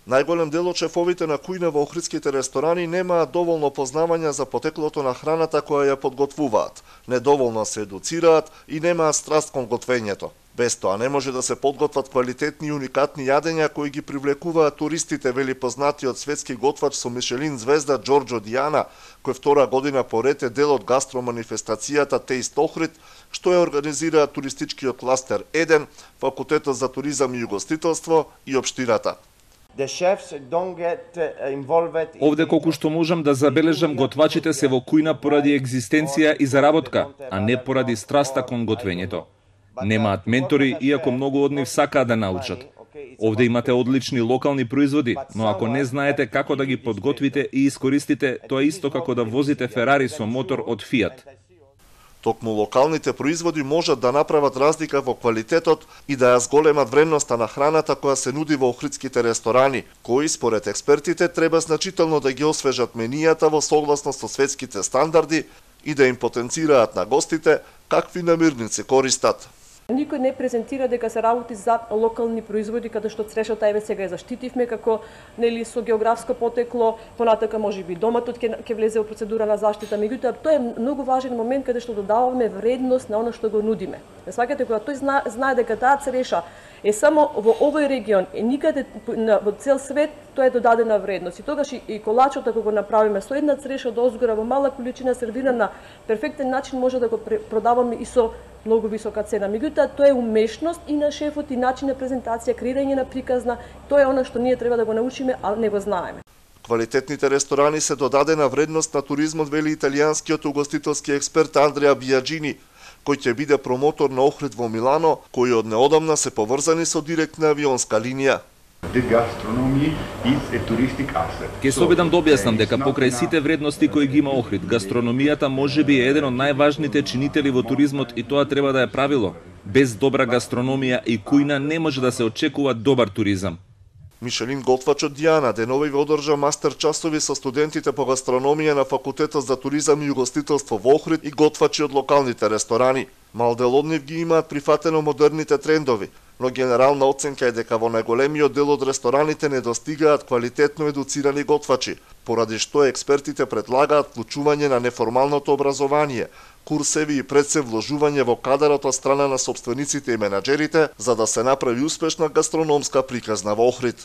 Најголем дел од шефовите на кујна во охридските ресторани немаат доволно познавања за потеклото на храната која ја подготвуваат, недоволно се едуцираат и немаат страст кон готвењето. Без тоа не може да се подготват квалитетни и уникатни јадења кои ги привлекуваат туристите, вели познатиот светски готвач со Мишелин звезда Джорџо Диана, кој втора година поред е дел од гастроманифестацијата Taste Охрид, што ја организира туристичкиот кластер 1, Факултетот за туризам и угостителство и општината. Овде колку што можам да забележам, готвачите се во кујна поради екзистенција и заработка, а не поради страста кон готвењето. Немаат ментори, иако многу од нив сакаат да научат. Овде имате одлични локални производи, но ако не знаете како да ги подготвите и искористите, тоа е исто како да возите Ферари со мотор од Фиат. Токму локалните производи можат да направат разлика во квалитетот и да ја зголемат вредноста на храната која се нуди во охридските ресторани, кои според експертите треба значително да ги освежат менијата во согласност со светските стандарди и да им потенцираат на гостите какви намирници користат. Никој не презентира дека се работи за локални производи, каде што црешата еве сега ја заштитивме како со географско потекло, понатака можеби доматот ќе влезе во процедура на заштита, меѓутоа тоа е многу важен момент каде што додаваме вредност на она што го нудиме. Сваќате кога тој знае дека таа цреша е само во овој регион и никаде во цел свет, тоа е додадена вредност. И тогаш и колачот ако го направиме со една цреша од озгора во мала количина сервирана на перфектен начин може да го продаваме и со многу висока цена. Меѓутоа тоа е умешност и на шефот и начин на презентација, креирање на приказна, тоа е она што ние треба да го научиме, а не го знаеме. Квалитетните ресторани се додадена вредност на туризмот, вели италијанскиот угостителски експерт Андреа Бијаджини, кој ќе биде промотор на Охрид во Милано, кои од неодамна се поврзани со директна авионска линија. Ке се обидам да објаснам дека покрај сите вредности кои ги има Охрид, гастрономијата можеби е еден од најважните чинители во туризмот и тоа треба да е правило. Без добра гастрономија и кујна не може да се очекува добар туризам. Мишелин готвачот Диана денови одржа мастер часови со студентите по гастрономија на Факултетот за туризам и угостителство во Охрид и готвачи од локалните ресторани. Мал дел од нив ги имаат прифатено модерните трендови, но генерална оценка е дека во најголемиот дел од рестораните не достигаат квалитетно едуцирани готвачи, поради што експертите предлагаат вклучување на неформалното образование, курсеви и пред се вложување во кадарот од страна на сопствениците и менаџерите, за да се направи успешна гастрономска приказна во Охрид.